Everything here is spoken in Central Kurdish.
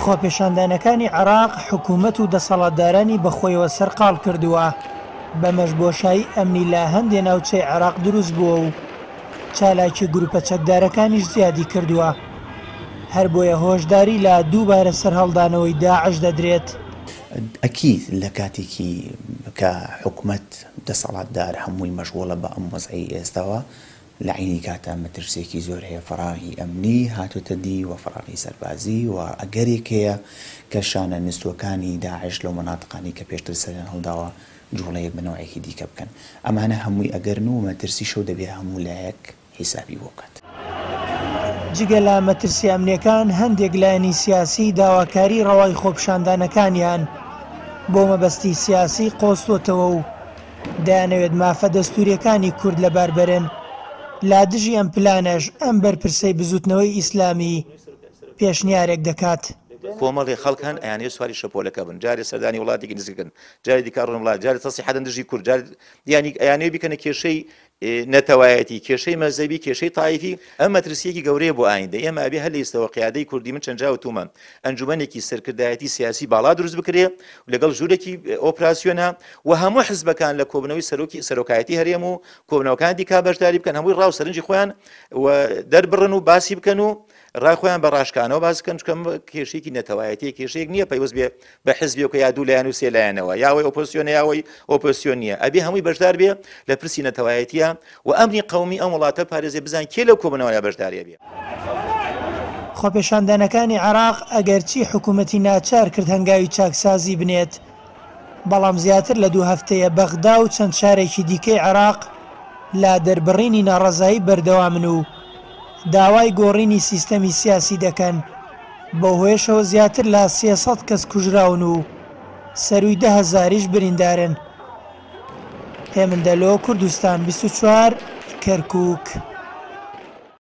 خۆپێشاندانەکانی عێراق حکوومەت و دەسەڵاتدارانی بەخۆیەوە سەرقاڵ کردووە، بەمەش بۆشایی ئەمنی لە هەندێ ناوچەی عێراق دروست بووە و چالاکی گروپە چەکدارەکانیش زیادی کردووە، هەربۆیە هۆشداری لە دووبارە سەرهەڵدانەوەی داعش دەدرێت. ئەکید لە کاتێکی کە حکومەت دەسەڵاتدار هەمووی مەشغوڵە بە ئەم وەزعەی ئێستاوە، لە عەینی کاتا مەترسیەکی زۆر هەیە فەراغی ئەمنی هاتۆتە دی و فەراغی سەربازی و ئەگەرێک هەیە کە شانە نوستوەکانی داعش لەو مەناتقانەی کە پێشتر سەریان هەڵداوە جوڵەیەک بە نەوعێکی دیکە بکەن. ئەمانە هەمووی ئەگەرن و مەترسیشە و دەبێ هەموو لایەک حیسابی بۆ بکات. جگە لە مەترسیە ئەمنیەکان، هەندێک لایەنی سیاسی داواکاری ڕەوای خۆپیشاندانەکانیان بۆ مەبەستی سیاسی قۆستۆتەوە و دەیانەوێت مافە دەستوریەکانی کورد لەبار بەرن، لە دژی ئەم پلانەش ئەم بەرپرسەی بزوتنەوەی ئیسلامی پێشنیارێک دەکات. کۆمەڵێ خەڵک هەن ئەیانەوێت سواری شەپۆلەکە بن، جارێ سەردانی وڵاتێکی نزیک بکەن، جارێ دیکە ئەڕۆن وڵات، جارێ تەسریح ئەدەن دژی کورد، جارێ یانی ئەیانەوێت بیکەنە کێشەی نەتەوایەتی، کێشەی مەزهەبی، کێشەی تایفی، ئەم مەترسییەکی گەورەیە بۆ ئایندە، ئێمە ئەبێ هەر لە ئیستەوە قیادەی کوردی، من چەند جار وتوومە، ئەنجومەنێکی سەرکردایەتی سیاسی باڵا دروست بکرێ و لەگەڵ ژوورێکی ئۆپراسیۆنە و هەموو حزبەکان لە کۆبوونەوەی سەرۆکی سەرۆکایەتی هەرێم و کۆبوونەوەکانی دیکە بەشداری بکەن، هەمووی ڕا و سەرنجی خۆیان و دەربڕن و باسی بکەن و ڕای خۆیان بە ڕاشکانەوە باس بکەن، چونکە ئەمە کێشەیەکی نەتەوایەتیە، کێشەیەک نییە پەیوەست بێ بە حزبێک یا دوو لایەن و سێ لایەنەوە، یا ئەوەی ئۆپۆزسیۆنە یا ئەوەی ئۆپۆزسیۆن نییە، ئەبێ هەمووی بەشدار بێ لە پرسی نەتەوایەتیە و ئەمنی قەومی ئەم وڵاتە پارێزێ، بزان کێ لەو کۆبوونەوەیە بەشدارێ بێ. خۆپێشاندانەکانی عێراق ئەگەرچی حکومەتی ناچار کرد هەنگاوی چاکسازی بنێت، بەڵام زیاتر لە دوو هەفتەیە بەغدا و چەند شارێکی دیکەی عێراق لە دەربڕینی ناڕەزایی بەردەوامن و داوای گۆڕینی سیستەمی سیاسی دەکەن، بەوهۆیەشەوە زیاتر لە 300 کەس کوژراون و سەرووی دە هەزاریش بریندارن. هێمن دەلۆ، کوردستان 24، کەرکووک.